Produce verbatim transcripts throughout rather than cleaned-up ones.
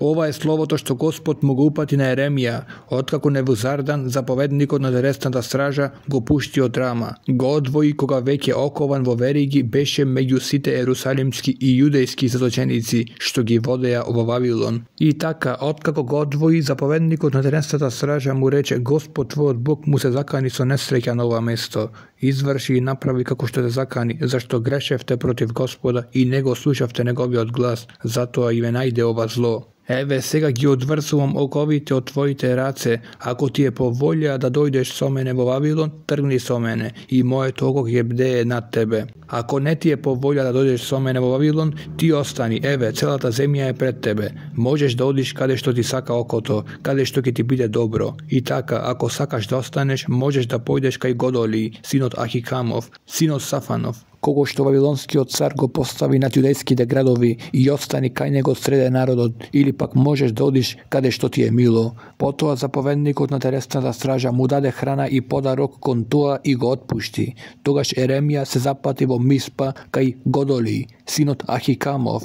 Ова е словото што Господ му го упати на Еремија, откако Невузардан, заповедникот на телесната стража, го пушти од Рама. Го одвои кога веќе окован во вериги беше меѓу сите ерусалимски и јудејски заточеници што ги водеа во Вавилон. И така, откако го одвои, заповедникот на телесната стража му рече: Господ твојот Бог му се закани со несреќа на ова место. Изврши и направи како што те закани, зашто грешевте против Господа и не го слушавте неговиот глас, затоа и ве најде ова зло. Еве, сега ги одврзувам оковите од твоите раце. Ако ти е по волја да дојдеш со мене во Вавилон, тргни со мене, и моето око ќе бдее над тебе. Ако не ти е по волја да дојдеш со мене во Вавилон, ти остани. Еве, целата земја е пред тебе. Можеш да одиш каде што ти сака окото, каде што ќе ти биде добро. И така, ако сакаш да останеш, можеш да појдеш кај Годоли, синот Ахикамов, синот Сафанов, кого што вавилонскиот цар го постави над јудејските градови, и остани кај него среде народот, или пак можеш да одиш каде што ти е мило. Потоа заповедникот на телесната стража му даде храна и подарок кон тоа и го отпушти. Тогаш Еремија се запати во Миспа кај Годоли, синот Ахикамов,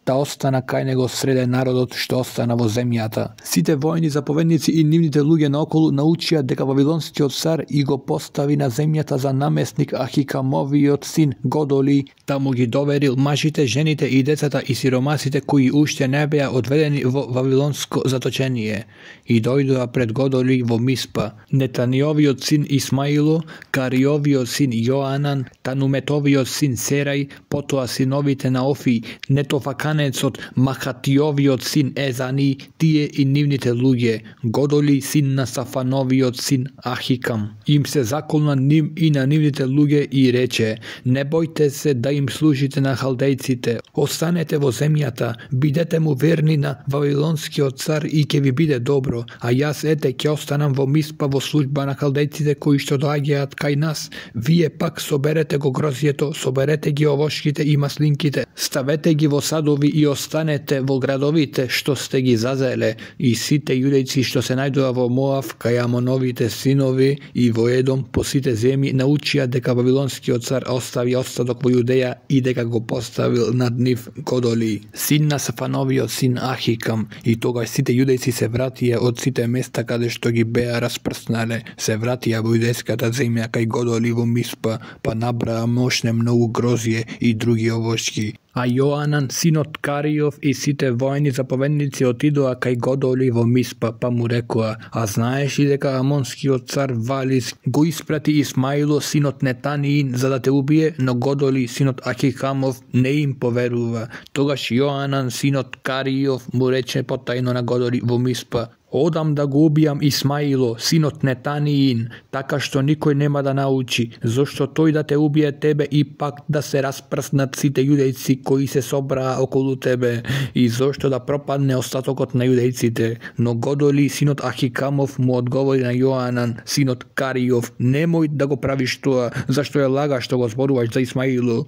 да остана кај него среде народот што остана во земјата. Сите војни заповедници и нивните луѓе наоколу научија дека вавилонскиот цар и го постави на земјата за наместник Ахикамовиот син Годоли, да му ги доверил мажите, жените и децата и сиромасите кои уште не беа одведени во вавилонско заточение. И дојдоа пред Годоли во Миспа Нетаниовиот син Исмаило, Кариовиот син Јоанан, Тануметовиот син Серај, потоа синовите на Офи, Нетофаканецот, Махатиовиот син Езани, тие и нивните луѓе, Годоли син на Сафановиот син Ахикам. Им се заколна ним и на нивните луѓе и рече: не бојте се да им служите на халдејците, останете во земјата, бидете му верни на вавилонскиот цар и ќе ви биде добро, а јас ете ќе останам во Миспа во служба на халдејците кои што доаѓаат кај нас. Вие пак соберете го грозјето, соберете ги овошките и маслинките, ставете ги во садови и останете во градовите што сте ги зазеле. И сите јудејци што се најдоа во Моав, кај Амоновите синови и во Едом по сите земји, научија дека вавилонскиот цар остави остаток во Јудеја и дека го поставил над нив Годоли, син на Сафановиот син Ахикам. И тогаш сите јудејци се вратија од сите места каде што ги беа распрснале, се вратија во јудејската земја кај Годоли во Миспа, па набраа мошне многу грозје и други овошки. А Јоанан, синот Кариов и сите војни заповедници отидоа кај Годоли во Миспа, па му рекоа: а знаеш ли дека амонскиот цар Валис го испрати Исмаило, синот Нетаниин, за да те убие, но Годоли, синот Ахикамов, не им поверува. Тогаш Јоанан, синот Кариов, му рече потајно на Годоли во Миспа: одам да го убијам Исмаило, синот Нетаниин, така што никој нема да научи, зошто тој да те убие тебе и пак да се распрснат сите јудејци кои се собраа околу тебе, и зошто да пропадне остатокот на јудејците. Но Годоли, синот Ахикамов, му одговори на Јоанан, синот Кариов: немој да го правиш тоа, зашто е лага што го зборуваш за Исмаило.